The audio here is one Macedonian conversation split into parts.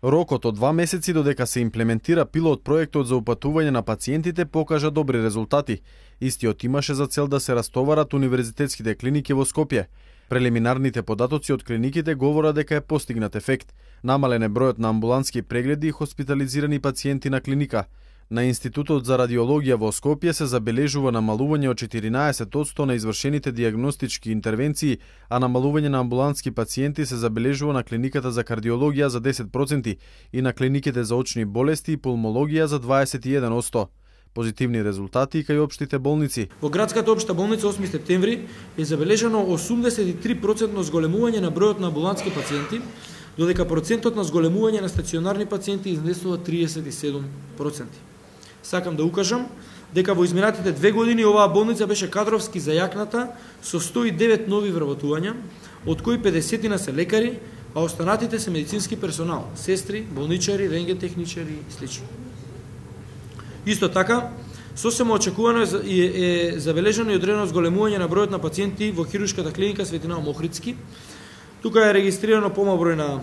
Рокот од 2 месеци додека се имплементира пилот проектот за упатување на пациентите покажа добри резултати. Истиот имаше за цел да се растоварат универзитетските клиники во Скопје. Прелиминарните податоци од клиниките говорат дека е постигнат ефект. Намален е бројот на амбулантски прегледи и хоспитализирани пациенти на клиника. На Институтот за радиологија во Скопје се забележува намалување од 14% на извршените диагностички интервенции, а намалување на амбулантски пациенти се забележува на клиниката за кардиологија за 10% и на клиниките за очни болести и пулмологија за 21%. Позитивни резултати и кај општите болници. Во градската општа болница 8 септември е забележано 83% зголемување на бројот на амбулантски пациенти, додека процентот на зголемување на стационарни пациенти изнесува 37%. Сакам да укажам дека во изминатите 2 години оваа болница беше кадровски зајакната со 109 нови вработувања, од кои 50 се лекари, а останатите се медицински персонал, сестри, болничари, рентген-техничари и слично. Исто така, сосема очекувано е забележано и одредено зголемување на бројот на пациенти во хируршката клиника Светинал Мохридски. Тука е регистрирано помал број на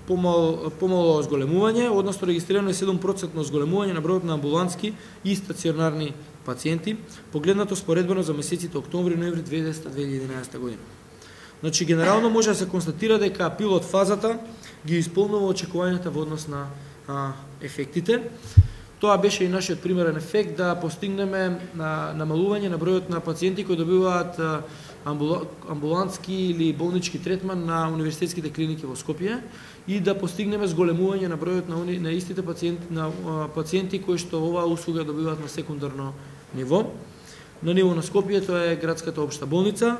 помало зголемување, односно регистрирано е 7% зголемување на бројот на амбулантски и стационарни пациенти, погледнато споредбено за месеците октомври и ноември 2010-2011 година. Значи, генерално може да се констатира дека пилот фазата ги исполнува очекувањата во однос на ефектите. Тоа беше и нашиот примерен ефект да постигнеме намалување на бројот на пациенти кои добиваат амбулантски или болнички третман на универзитетските клиники во Скопје и да постигнеме зголемување на бројот на истите пациенти кои што оваа услуга добиваат на секундарно ниво. На ниво на Скопје тоа е градската општа болница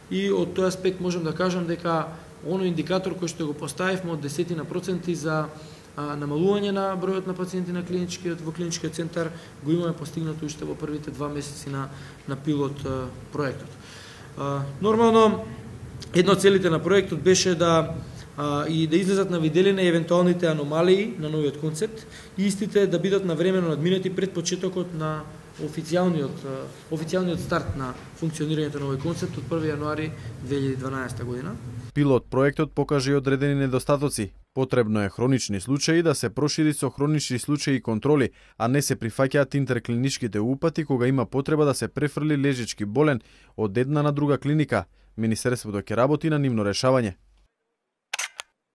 и од тој аспект можам да кажам дека оној индикатор кој што го поставивме од 10% за намалување на бројот на пациенти на во клиничкиот центар го имаме постигнато уште во првите 2 месеци на пилот проектот. Нормално, една од целите на проектот беше да излезат на виделина евентуалните аномалии на новиот концепт и истите да бидат навремено надминати пред почетокот на официјалниот старт на функционирањето на овој концепт од 1 јануари 2012 година. Пилот проектот покажа и одредени недостатоци. Потребно е хронични случаи да се прошири со хронични случаи и контроли, а не се прифаќаат интерклиничките упати кога има потреба да се префрли лежички болен од една на друга клиника. Министерството ќе работи на нивно решавање.